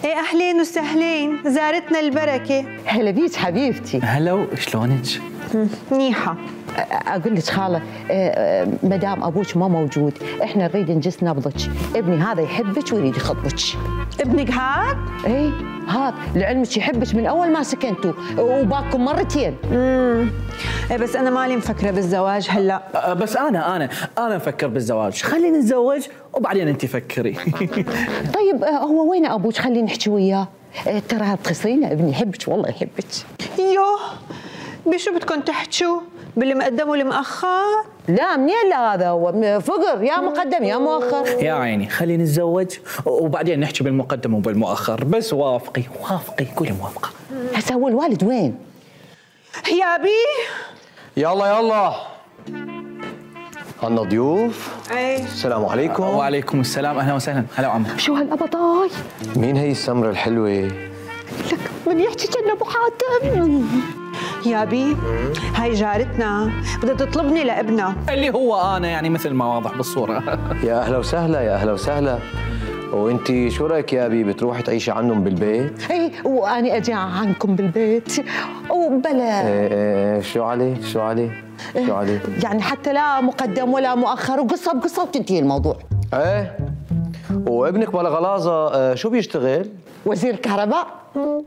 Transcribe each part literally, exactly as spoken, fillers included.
ايه اهلين وسهلين، زارتنا البركه. هلا بيك حبيبتي. هلا، شلونك؟ منيحه. اقول لك خاله، مدام ابوك ما موجود، احنا نريد نجس نبضك، ابني هذا يحبك ويريد يخطبك. ابنك هاد؟ ايه هاد، لعلمك يحبك من اول ما سكنتوا وباكم مرتين. امم ايه بس انا مالي مفكره بالزواج هلا. أه بس انا انا انا مفكر بالزواج، خلينا نتزوج وبعدين انت فكري. طيب هو وين ابوك؟ خلينا نحكي وياه، ترى تخسرين، ابني يحبك والله يحبك. يوه بشو بدكم تحكوا؟ بالمقدم والمؤخر؟ لا منين لا، هذا هو فقر، يا مقدم يا مؤخر. يا عيني خلينا نتزوج وبعدين نحكي بالمقدم وبالمؤخر، بس وافقي وافقي قولي موافقه. هسه هو الوالد وين؟ يا بي يلا يلا عنا ضيوف. ايه السلام عليكم. وعليكم السلام، اهلا وسهلا. هلا عمو. شو هالقبضاي؟ مين هي السمرة الحلوة؟ لك من يحكي كأنه ابو حاتم. يا بي هاي جارتنا بدها تطلبني لابنها اللي هو انا، يعني مثل ما واضح بالصوره. يا اهلا وسهلا يا اهلا وسهلا. وانتي شو رايك يا ابي، بتروحي تعيشي عنهم بالبيت؟ اي واني اجي عنكم بالبيت وبلا. ايه ايه شو عليه شو عليه شو عليه؟ يعني حتى لا مقدم ولا مؤخر، وقصه بقصه وتنتهي الموضوع. ايه وابنك بلا غلاظه شو بيشتغل؟ وزير كهرباء.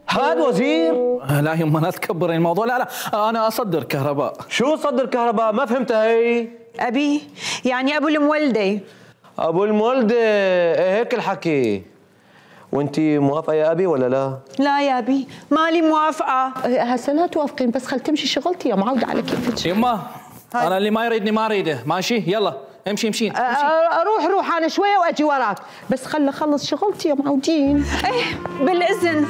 هاد وزير؟ لا يما لا تكبري الموضوع. لا لا انا اصدر كهرباء. شو صدر كهرباء؟ ما فهمتها هي. ابي يعني ابو المولده. ابو المولده، ايه هيك الحكي. وانتي موافقه يا ابي ولا لا؟ لا يا ابي مالي موافقه. هسه لا توافقين، بس خل تمشي شغلتي يا معوده على كيفك. يما انا اللي ما يريدني ما اريده، ماشي؟ يلا امشي امشي, امشي. اروح روح انا شويه واجي وراك، بس خل اخلص شغلتي يا معودين. ايه بالاذن.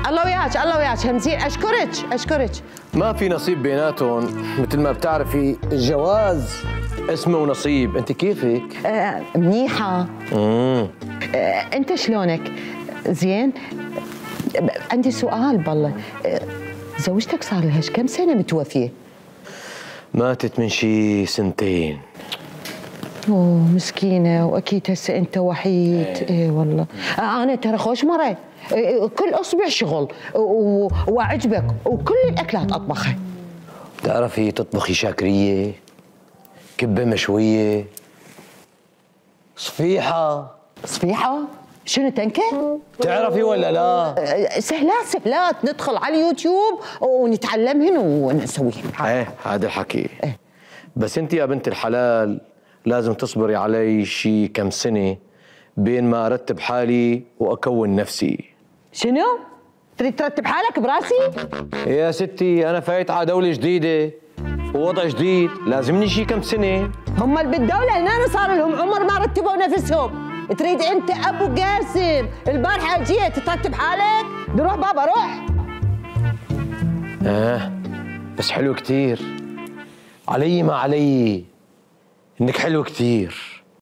الله وياك الله وياك همزين. اشكرك اشكرك. ما في نصيب بيناتهم، مثل ما بتعرفي الجواز اسمه ونصيب. انت كيفك؟ آه منيحه. امم آه انت شلونك؟ زين. آه عندي سؤال بالله، آه زوجتك صار لها كم سنه متوفيه؟ ماتت من شي سنتين. اوه مسكينه، واكيد هسه انت وحيد. ايه, ايه والله. آه انا ترى خوش مره، آه كل اصبع شغل واعجبك وكل الاكلات اطبخها. بتعرفي تطبخي شاكريه، كبه مشويه، صفيحه. صفيحه؟ شنو تنكه؟ بتعرفي ولا لا؟ سهلات سهلات، ندخل على اليوتيوب ونتعلمهن ونسويهن. ايه هذا الحكي. ايه بس انت يا بنت الحلال لازم تصبري علي شي كم سنه بين ما ارتب حالي واكون نفسي. شنو؟ تريد ترتب حالك براسي؟ يا ستي انا فايت على دوله جديده ووضع جديد، لازمني شي كم سنه. هم اللي بالدوله هنا صار لهم عمر ما رتبوا نفسهم. تريد انت ابو قاسم البارحه جيت ترتب حالك؟ روح بابا روح. اه بس حلو كتير، علي ما علي انك حلو كتير.